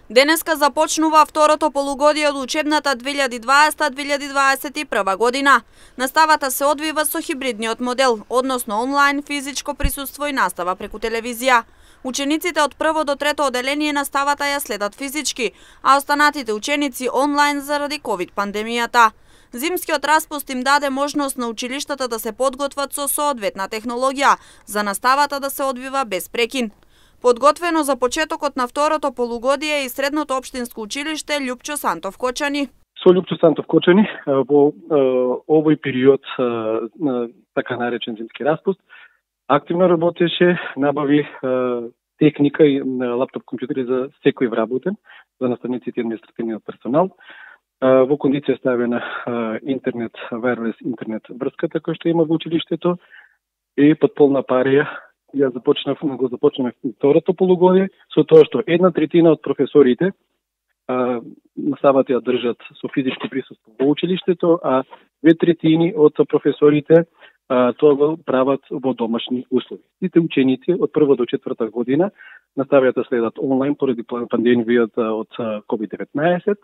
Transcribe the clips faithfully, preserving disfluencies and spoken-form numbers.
Денеска започнува второто полугодие од учебната две илјади дваесета две илјади дваесет и прва година. Наставата се одвива со хибридниот модел, односно онлайн, физичко присуство и настава преку телевизија. Учениците од прво до трето оделение наставата ја следат физички, а останатите ученици онлайн заради ковид пандемијата. Зимскиот распуст им даде можност на училиштата да се подготват со соодветна технологија, за наставата да се одвива без прекин. Подготвено за почетокот на второто полугодие и Средното општинско училиште Љупчо Сантов Кочани. Со Љупчо Сантов Кочани во овој период на така наречен зимски распуст активно работеше, набави техника и лаптоп компјутери за секој вработен, за наставниците и административниот персонал. Во кондиција ставена интернет, wireless интернет врската која што има во училиштето и под полна парија ја започнав, го започнаме второто полугодие, со тоа што една третина од професорите а, наставата ја држат со физичко присуство во училиштето, а две третини од професорите а, тоа го прават во домашни услови. Сите ученици од прва до четврта година наставата следат онлайн поради пандемијата од ковид деветнаесет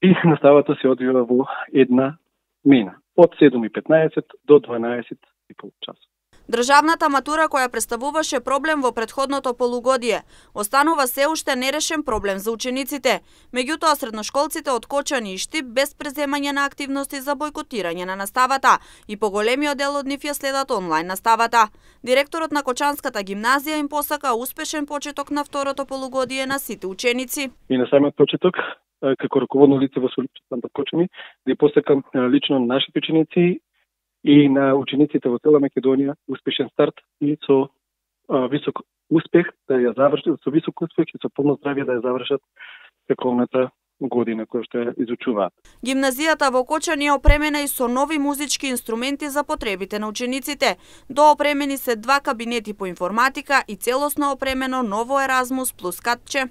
и наставата се одвива во една мена од седум и петнаесет до дванаесет и пол часот. Државната матура која представуваше проблем во претходното полугодие, останува се уште нерешен проблем за учениците. Меѓутоа средношколците од Кочани и Штип без преземање на активности за бойкотирање на наставата и поголемиот дел од нив ја следат онлайн наставата. Директорот на Кочанската гимназија им посака успешен почеток на второто полугодие на сите ученици. И на самиот почеток, како раководно лице во Љупчо Сантов Кочани, да посакам лично на нашите ученици и на учениците во цела Македонија успешен старт и со а, висок успех да ја завршат, со висок успех и со полно здравје да ја завршат тековната година која што ја изучуваат. Гимназијата во Кочани е опремена и со нови музички инструменти за потребите на учениците. Доопремени се два кабинети по информатика и целосно опремено ново Еразмус плюс катче.